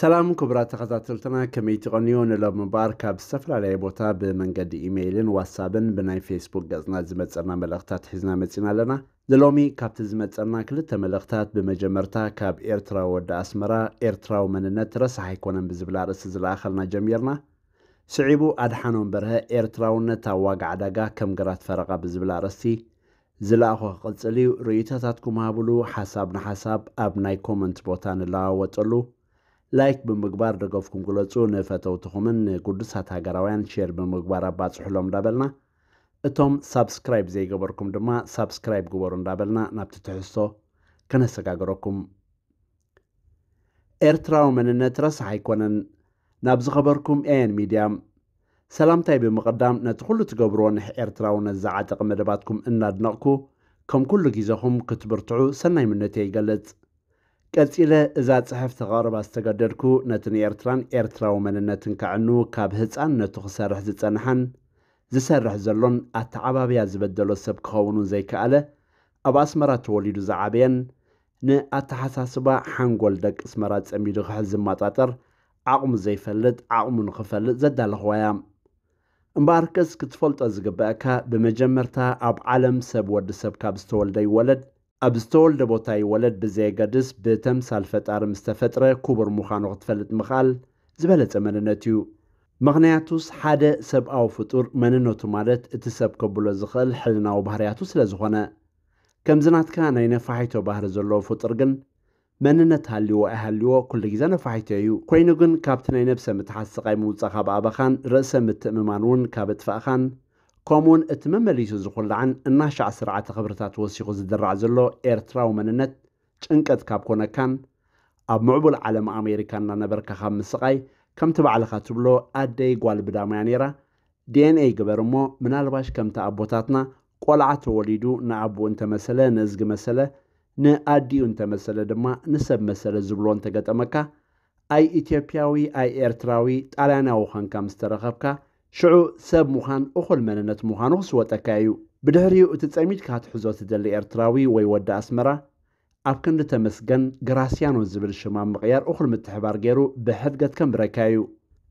ሰላም ክቡራት ተኸታተልትና፣ ከመይ ትቐንዩ? ንሎም እምበኣር ካብ ዝተፈላለየ ቦታ ብመንገዲ ኢሜይልን ዋትሳብን ብናይ ፌስቡክ ገጽና ዝመጸና መልእኽታት ሒዝና መጺና ኣለና። ንሎሚ ካብቲ ዝመጸና ክልተ መልእኽታት፣ ብመጀመርታ ካብ ኤርትራዊ ወዲ ኣስመራ፣ ኤርትራዊ መንነት ረሳሕ ኣይኮነን ብዝብል ኣርእስቲ ዝለኣኸልና ጀሚርና። ስዒቡ ኣድሓኖም በርሀ፣ ኤርትራውነት ኣብ ዋጋ ዕዳጋ ከም ግራት ፈረቓ ብዝብል ኣርእስቲ ዝለኣኾ ክቕጽል እዩ። ርእይቶታትኩም ሃብሉ። ሓሳብ ንሓሳብ ኣብ ናይ ኮመንት ቦታ ንለዋወጠሉ። ላይክ ብምግባር ደገፍኩም ግለጹ። ንፈተውትኹምን ንግዱሳት ሃገራውያን ሼር ብምግባር ኣባጽሑሎም እንዳበልና፣ እቶም ሳብስክራይብ ዘይገበርኩም ድማ ሳብስክራይብ ግበሩ እንዳበልና ናብቲ ትሕዝቶ ከነሰጋግረኩም። ኤርትራዊ መንነት ረሳሕ ኣይኮነን። ናብ ዝኸበርኩም ኤኤን ሚድያ ሰላምታይ ብምቕዳም፣ ነቲ ኩሉ ትገብርዎ ንሕ ኤርትራውነት ዝዓጠቐ መደባትኩም እናድነቕኩ፣ ከም ኩሉ ግዜኹም ክትብርትዑ ሰናይ ምነተይ ይገልጽ። ቀጺለ እዛ ጽሕፍቲ ከቕርባ ዝተገደድኩ፣ ነቲ ንኤርትራን ኤርትራዊ መንነትን ከዕኑ ካብ ህጻንነቱ ክሰርሕ ዝጸንሐን ዝሰርሕ ዘሎን ኣተዓባብያ ዝበደሎ ሰብ ክኸውን እውን ዘይከኣለ፣ ኣብ ኣስመራ ተወሊዱ ዝዓበየን ንኣተሓሳስባ ሓንጎል ደቂ ኣስመራ ጸሚዱ ክሕዝ ዝመጣጠር ዓቕሙ ዘይፈልጥ፣ ዓቕሙ ንኽፈልጥ ዘዳለኽዋ እያ። እምበኣርከስ ክትፈልጦ ዝግበኣካ፣ ብመጀመርታ ኣብ ዓለም ሰብ ወዲ ሰብ ካብ ዝተወልደ ይወለድ፣ ኣብ ዝተወልደ ቦታ ይወለድ ብዘየገድስ፣ ብተምሳል ፈጣሪ ምስ ተፈጥረ ክቡር ምዃኑ ክትፈልጥ ምኽኣል ዝበለጸ መንነት እዩ። ምኽንያቱስ ሓደ ሰብኣዊ ፍጡር መንነቱ ማለት እቲ ሰብ ከብሎ ዝኽእል ሕልናዊ ባህርያቱ ስለ ዝኾነ። ከምዚ ናትካ ናይ ነፋሒቶ ባህሪ ዘለዎ ፍጡር ግን መንነት ሃልይዎ ኣይሃልይዎ ኩሉ ግዜ ነፋሒቶ እዩ። ኮይኑ ግን ካብቲ ናይ ነብሰ ምትሓት ስቓይ ምውጻእ ካብ ኣበኻን ርእሰ ምትእምማን እውን ካብ እጥፋእኻን፣ ከምኡውን እቲ መመሊሱ ዝኹላዕን እናሻዕ ስርዓተ ክብርታት ወሲኹ ዝድራዕ ዘሎ ኤርትራዊ መንነት ጭንቀት ካብ ኮነካን፣ ኣብ ምዕቡል ዓለም ኣሜሪካ እናነበርካ ካብ ምስቓይ፣ ከምቲ ባዕልኻ ትብሎ ኣደይ ጓል ብዳም እያ ነይራ፣ ዲኤንኤ ይግበር እሞ፣ ምናልባሽ ከምቲ ኣቦታትና ቆልዓ ተወሊዱ ንኣቦኡ እንተመሰለ፣ ንእዝጊ መሰለ፣ ንኣዲኡ እንተመሰለ ድማ ንሰብ መሰለ ዝብልዎ እንተገጠመካ፣ ኣይ ኢትዮጵያዊ ኣይ ኤርትራዊ ጣልያናዊ ኾንካ ምስ ተረኸብካ፣ ሽዑ ሰብ ምዃን እኹል መንነት ምዃኑ ክስወጠካ እዩ። ብድሕሪኡ እቲ ጸሚድካ ክትሕዞ ትደሊ ኤርትራዊ ወይ ወዲ ኣስመራ፣ ኣብ ክንዲ ተመስገን ግራስያኖ ዝብል ሽም ኣብ ምቕያር እኹል ምትሕባር ገይሩ ብሕድገት ከንብረካ እዩ።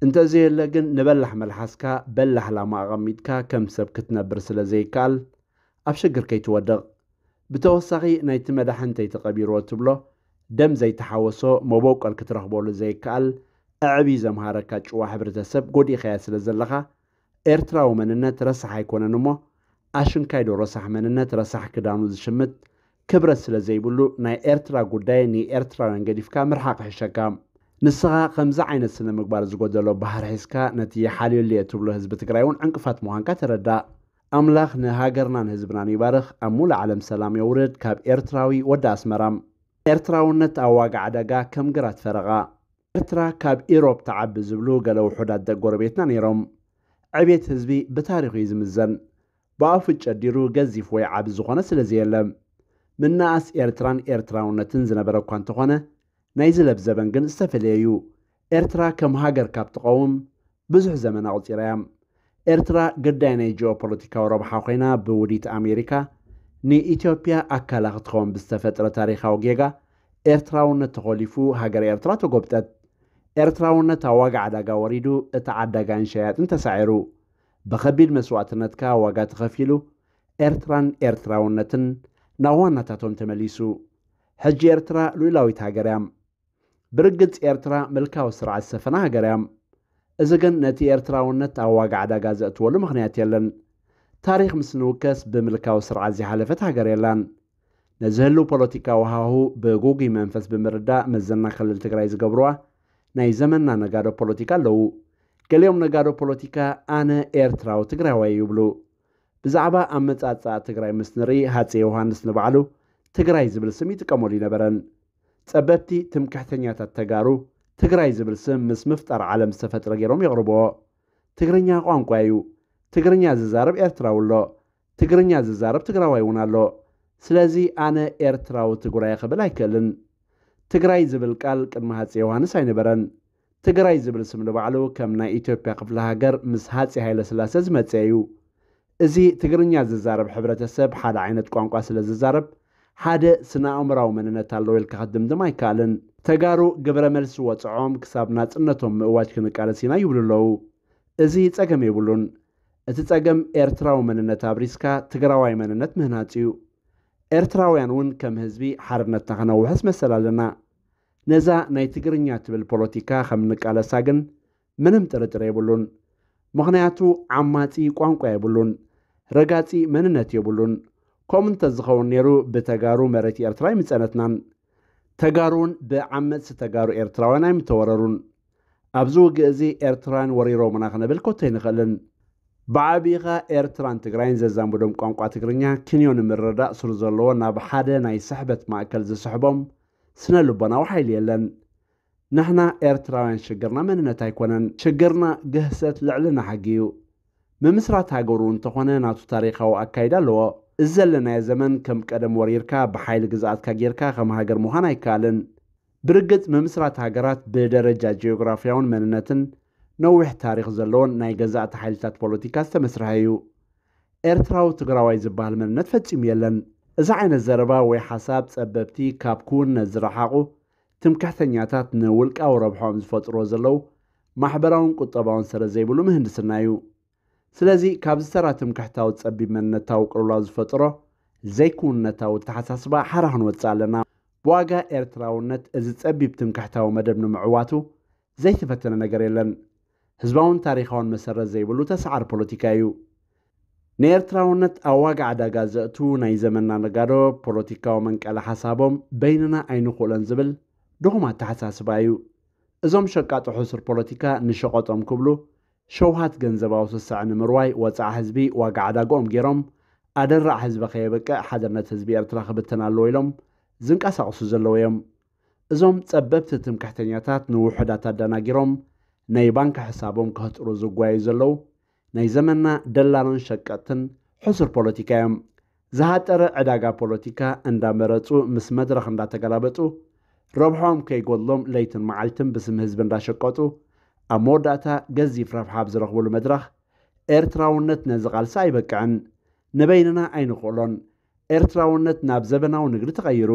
እንተዘየለ ግን ንበላሕ መልሓስካ በላሕ ላማ ኣቐሚጥካ ከም ሰብ ክትነብር ስለ ዘይከኣል ኣብ ሽግር ከይትወድቕ። ብተወሳኺ ናይቲ መዳሕንተይ ተቐቢርዎ ትብሎ ደም ዘይተሓወሶ መበቆል ክትረኽበሉ ዘይከኣል ኣዕብዩ ዘምሃረካ ጭዋ ሕብረተሰብ ጎዲእኻዮ ስለ ዘለኻ ኤርትራዊ መንነት ረሳሕ ኣይኮነን እሞ ኣሽንካይዶ ረሳሕ መንነት ረሳሕ ክዳኑ ዝሽምት ክብረት ስለ ዘይብሉ ናይ ኤርትራ ጉዳይ ንኤርትራውያን ገዲፍካ ምርሓቕ ይሕሸካ። ንስኻ ከምዚ ዓይነት ስነ ምግባር ዝጎደሎ ባህሪ ሒዝካ ነቲ ይሓልየሉ እየ ትብሎ ህዝቢ ትግራይ እውን ዕንቅፋት ምዃንካ ተረዳእ። ኣምላኽ ንሃገርናን ህዝብናን ይባርኽ፣ ኣብ ሙሉእ ዓለም ሰላም የውርድ፣ ካብ ኤርትራዊ ወዲ ኣስመራ። ኤርትራውነት ኣብ ዋጋ ዕዳጋ ከም ግራት ፈረቓ። ኤርትራ ካብ ኢሮብ ትዓቢ ዝብሉ ገለ ውሑዳት ደቂ ጎረቤትና ነይሮም። ዕቤት ህዝቢ ብታሪኹ እዩ ዝምዘን። ብኣፉ ጨዲሩ ገዚፍ ወይ ዓቢ ዝኾነ ስለ ዘየለ። ምንኣስ ኤርትራን ኤርትራውነትን ዝነበረ እኳ እንተኾነ፣ ናይዚ ለብዘበን ግን ዝተፈለየ እዩ። ኤርትራ ከም ሃገር ካብ ትቐውም ብዙሕ ዘመን ኣቑጺራ እያ። ኤርትራ ግዳይ ናይ ጂኦፖለቲካዊ ረብሓ ኮይና ብውዲት ኣሜሪካ ንኢትዮጵያ ኣካላ ክትኸውን ብዝተፈጥረ ታሪኻዊ ጌጋ ኤርትራውነት ተኾሊፉ ሃገረ ኤርትራ ተጎብጠት። ኤርትራውነት ኣብ ዋጋ ዕዳጋ ወሪዱ እቲ ዓዳጋይን ሸያጥን ተሳዒሩ። ብኸቢድ መስዋእትነትካ ዋጋ ተኸፊሉ ኤርትራን ኤርትራውነትን ናብ ዋናታቶም ተመሊሱ። ሕጂ ኤርትራ ሉኢላዊት ሃገር እያ። ብርግጽ ኤርትራ ምልካዊ ስርዓት ዝሰፈና ሃገር እያ። እዚ ግን ነቲ ኤርትራውነት ኣብ ዋጋ ዕዳጋ ዘእትወሉ ምኽንያት የለን። ታሪኽ ምስ ንውከስ ብምልካዊ ስርዓት ዘይሓለፈት ሃገር የላን። ነዚ ህልው ፖለቲካዊ ሃሁ ብጉጉይ መንፈስ ብምርዳእ መዘና ክልል ትግራይ ዝገብርዋ ናይ ዘመንና ነጋዶ ፖለቲካ ኣለዉ። ገሊኦም ነጋዶ ፖለቲካ ኣነ ኤርትራዊ ትግራዋይ ይብሉ። ብዛዕባ ኣመጻጽኣ ትግራይ ምስ ንርኢ ሃፀይ ዮሃንስ ንባዕሉ ትግራይ ዝብል ስም ይጥቀመሉ ይነበረን። ጸበብቲ ትምክሕተኛታት ተጋሩ ትግራይ ዝብል ስም ምስ ምፍጣር ዓለም ዝተፈጥረ ገይሮም የቕርብዎ። ትግርኛ ቋንቋ እዩ። ትግርኛ ዝዛረብ ኤርትራዊ ኣሎ። ትግርኛ ዝዛረብ ትግራዋይ እውን ኣሎ። ስለዚ ኣነ ኤርትራዊ ትግራይ ክብል ኣይክእልን። ትግራይ ዝብል ቃል ቅድሚ ሃፀይ ዮሃንስ ኣይነበረን። ትግራይ ዝብል ስም ንባዕሉ ከም ናይ ኢትዮጵያ ክፍለ ሃገር ምስ ሃፀይ ሃይለ ስላሴ ዝመፀ እዩ። እዚ ትግርኛ ዝዛረብ ሕብረተሰብ ሓደ ዓይነት ቋንቋ ስለ ዝዛረብ ሓደ ስነ ኣእምራዊ መንነት ኣለዎ ኢልካ ክትድምድም ኣይከኣልን። ተጋሩ ግብረ መልሲ ወፅዖም ክሳብ ናፅነቶም ምእዋጅ ክንቃለስ ኢና ይብሉ ኣለዉ። እዚ ፀገም የብሉን። እቲ ፀገም ኤርትራዊ መንነት ኣብሪስካ ትግራዋይ መንነት ምህናፅ እዩ። ኤርትራውያን እውን ከም ህዝቢ ሓርነትና ከነውሕስ መሰል ኣለና። ነዛ ናይ ትግርኛ ትብል ፖለቲካ ከም እንቃለሳ ግን ምንም ጥርጥር የብሉን። ምኽንያቱ ዓማጺ ቋንቋ የብሉን፣ ረጋጺ መንነት የብሉን። ከምኡ እንተዝኸውን ነይሩ ብተጋሩ መሬት ኤርትራ ኣይምጸነትናን። ተጋሩ እውን ብዓመጽቲ ተጋሩ ኤርትራውያን ኣይምተወረሩን። ኣብዚ ውግእ እዚ ኤርትራውያን ወሪሮምና ክንብል ኮቶ ኣይንኽእልን። ብዓቢኻ ኤርትራን ትግራይን ዘዛምዶም ቋንቋ ትግርኛ ክንዮ ንምርዳእ ሱር ዘለዎ ናብ ሓደ ናይ ስሕበት ማእከል ዝስሕቦም ስነ ልቦናዊ ሓይሊ የለን። ንሕና ኤርትራውያን ሽግርና መንነት ኣይኮነን። ሽግርና ግህሰት ልዕልና ሕጊ እዩ። ምምስራት ሃገሩ እንተኾነ ናቱ ታሪኻዊ ኣካይዳ ኣለዎ። እዚ ዘለናዮ ዘመን ከም ቀደም ወሪርካ ብሓይሊ ግዝኣትካ ጌርካ ከም ሃገር ምዃን ኣይከኣልን። ብርግጽ ምምስራት ሃገራት ብደረጃ ጂኦግራፍያውን መንነትን ነዊሕ ታሪኽ ዘለዎን ናይ ገዛእቲ ሓይልታት ፖለቲካ ዝተመስርሐ እዩ። ኤርትራዊ ትግራዋይ ዝበሃል መንነት ፈጺሙ የለን። እዚ ዓይነት ዘረባ ወይ ሓሳብ ጸበብቲ ካብ ክውነት ዝረሓቑ ትምክሕተኛታት ንውልቃዊ ረብሖኦም ዝፈጥርዎ ዘለዉ ማሕበራውን ቁጠባውን ሰረት ዘይብሉ ምህንድስና እዩ። ስለዚ ካብዚ ተራ ትምክሕታዊ ጸቢብ መንነታዊ ቅልውላው ዝፈጥሮ ዘይክውንነታዊ ኣተሓሳስባ ሓራ ክንወጽእ ኣለና። ብዋጋ ኤርትራውነት እዚ ጸቢብ ትምክሕታዊ መደብ ንምዕዋቱ ዘይተፈተነ ነገር የለን። ህዝባውን ታሪኻውን መሰረት ዘይብሉ ተሰዓር ፖለቲካ እዩ። ንኤርትራውነት ኣብ ዋጋ ዕዳጋ ዘእቱ ናይ ዘመንና ነጋዶ ፖለቲካዊ መንቀሊ ሓሳቦም በይንና ኣይንኽእሎን ዝብል ድኹም ኣተሓሳስባ እዩ። እዞም ሸቃጦ ሕሱር ፖለቲካ ንሸቐጦም ክብሉ ሸውሃት ገንዘባዊ ስስዐ ንምርዋይ ወጻዓ ህዝቢ ዋጋ ዕዳግኦም ገይሮም ኣደራዕ ህዝቢ ከየብቅዕ ሓድነት ህዝቢ ኤርትራ ክብተን ኣለዎ ኢሎም ዝንቀሳቐሱ ዘለዉ እዮም። እዞም ጸበብቲ ትምክሕተኛታት ንውሑዳት ኣደናጊሮም ናይ ባንክ ሕሳቦም ከህጥሩ ዝጓዩ ዘለዉ ናይ ዘመንና ደላሎን ሸቀጥትን ሕሱር ፖለቲካ እዮም። ዝሃጠረ ዕዳጋ ፖለቲካ እንዳመረጹ ምስ መድረኽ እንዳተገላበጡ ረብሖም ከይጎድሎም ለይትን መዓልትን ብስም ህዝቢ እንዳሸቀጡ ኣብ መወዳእታ ገዚፍ ረብሓ ኣብ ዝረኽብሉ መድረኽ ኤርትራውነት ነዚ ቃልሲ ኣይበቅዕን። ንበይንና ኣይንኽእሎን። ኤርትራውነት ናብ ዘበናዊ ንግዲ ተቐይሩ።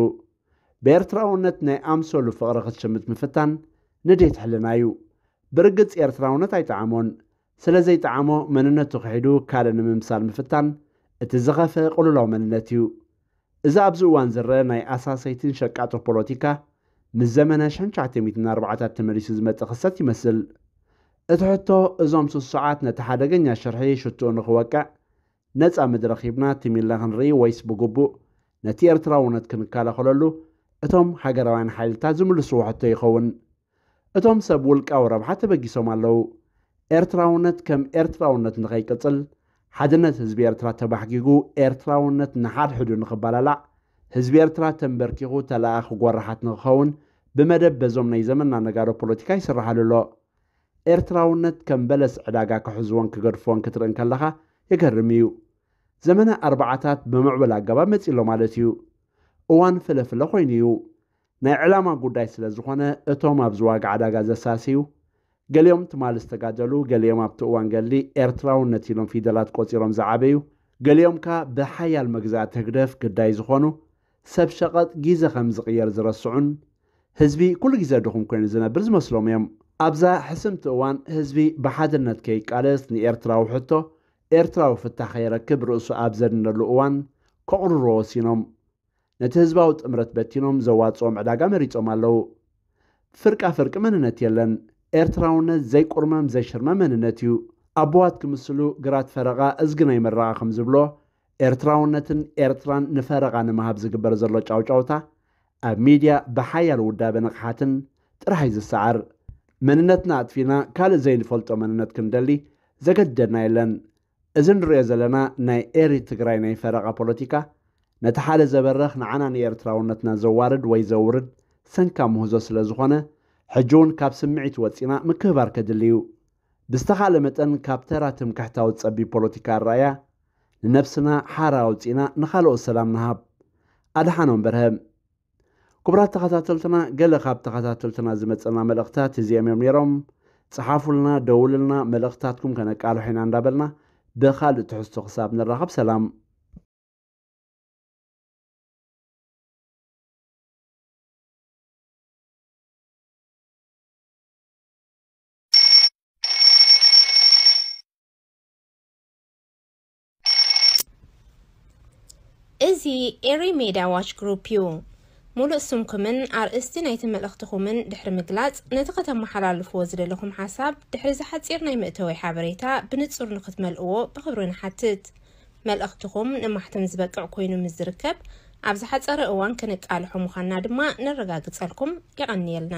ብኤርትራውነት ናይ ኣምሰሉ ፍቕሪ ክትሽምት ምፍታን ንዴት ሕልና እዩ። ብርግጽ ኤርትራውነት ኣይጠዓሞን። ስለ ዘይጠዓሞ መንነቱ ክሒዱ ካልእ ንምምሳል ምፍታን እቲ ዝኸፍአ ቅልውላው መንነት እዩ። እዚ ኣብዚ እዋን ዝረአ ናይ ኣሳሰይትን ሸቃጦ ፖለቲካ ምስ ዘመነ ሽሕን ትሽዓተ ሚእትን ኣርባዓታት ተመሊሱ ዝመጽእ ክስተት ይመስል። እቲ ሕቶ እዞም ስሱዓት ነቲ ሓደገኛ ሽርሒ ሽትኡ ንኽወቅዕ ነጻ መድረኽ ሂብና ትም ኢልና ክንርኢ ወይስ ብግቡእ ነቲ ኤርትራውነት ክንከላኸለሉ እቶም ሃገራውያን ሓይልታት ዝምልስዎ ሕቶ ይኸውን? እቶም ሰብ ውልቃዊ ረብሓ ተበጊሶም ኣለዉ። ኤርትራውነት ከም ኤርትራውነት ንኸይቅጽል፣ ሓድነት ህዝቢ ኤርትራ ተባሕጊጉ፣ ኤርትራውነት ንሓድሕዱ ንኽባላላዕ፣ ህዝቢ ኤርትራ ተንበርኪኹ ተለኣኣኺ ጎራሓት ንኽኸውን ብመደብ በዞም ናይ ዘመንና ነጋዶ ፖለቲካ ይስርሓሉ ኣሎ። ኤርትራውነት ከም በለስ ዕዳጋ ክሕዝዎን ክገድፍዎን ክትርኢ እንከለኻ የገርም እዩ። ዘመነ ኣርባዓታት ብምዕቡል ኣገባብ መጺእሎ ማለት እዩ። እዋን ፍለፍለ ኮይኑ እዩ። ናይ ዕላማ ጉዳይ ስለ ዝኾነ እቶም ኣብዚ ዋጋ ዕዳጋ ዘሳሰዩ፣ ገሊኦም ትማሊ ዝተጋደሉ፣ ገሊኦም ኣብቲ እዋን ገድሊ ኤርትራውነት ኢሎም ፊደላት ቆጺሮም ዝዓበዩ፣ ገሊኦም ከኣ ብሓያል መግዛእቲ ህግደፍ ግዳይ ዝኾኑ፣ ሰብ ሸቐጥ ግዜ ከም ዝቕየር ዝረስዑን ህዝቢ ኩሉ ግዜ ድኹም ኮይኑ ዝነብር ዝመስሎም እዮም። ኣብዛ ሕስምቲ እዋን ህዝቢ ብሓድነት ከይቃለስ ንኤርትራዊ ሕቶ ኤርትራዊ ፍታሕ ከይረክብ ርእሱ ኣብ ዘድነሉ እዋን ከቑርርዎ ወሲኖም። ነቲ ህዝባዊ ጥምረት በቲኖም ዘዋጽኦም ዕዳጋ መሪጾም ኣለዉ። ፍርቃ ፍርቂ መንነት የለን። ኤርትራውነት ዘይቁርመም ዘይሽርመም መንነት እዩ። ኣቦዋት ክምስሉ ግራት ፈረቓ እዝጊ ናይ መረቓ ከም ዝብሎ ኤርትራውነትን ኤርትራን ንፈረቓ ንምሃብ ዝግበር ዘሎ ጫውጫውታ ኣብ ሚድያ ብሓያል ውዳበ ንቕሓትን ጥራሕ እዩ ዝሰዓር። መንነትና ኣጥፊና ካልእ ዘይንፈልጦ መንነት ክንደሊ ዘገድደና የለን። እዚ ንሪኦ ዘለና ናይ ኤሪ ትግራይ ናይ ፈረቓ ፖለቲካ ነቲ ሓደ ዘበርኽ ንዓና ንኤርትራውነትና ዘዋርድ ወይ ዘውርድ ሰንካ ምህዞ ስለ ዝኾነ ሕጂ እውን ካብ ስምዒት ወፂና ምክብባር ከድሊ እዩ። ብዝተኻለ መጠን ካብ ተራ ትምክሕታዊ ጸቢብ ፖለቲካ ኣረኣእያ ንነብስና ሓራ ኣውጺእና ንኻልኦት ሰላም ንሃብ። ኣድሓኖም በርሀ። ክቡራት ተኸታተልትና፣ ገለ ካብ ተኸታተልትና ዝመጸና መልእኽታት እዚኦም እዮም ነይሮም። ጸሓፉልና፣ ደውልልና፣ መልእኽታትኩም ከነቃልሖ ኢና እንዳበልና ብኻልእ ትሕዝቶ ክሳብ ንራኸብ ሰላም። እዚ ኤሪ ሜድያ ዋች ግሩፕ እዩ። ሙሉእ ስምኩምን ኣርእስቲ ናይቲ መልእኽትኹምን ድሕሪ ምግላጽ፣ ነቲ ከተመሓላልፍዎ ዝደለኹም ሓሳብ ድሕሪ እዚ ሓጺር ናይ መእተዊ ሓበሬታ ብንጹር ንኽትመልእዎ ብኽብሪ ንሓትት። መልእኽትኹም ንማሕተም ዝበቅዕ ኮይኑ ምስ ዝርከብ፣ ኣብ ዝሓጸረ እዋን ከነቃልሖ ምዃንና ድማ ነረጋግጸልኩም። የቐንየልና።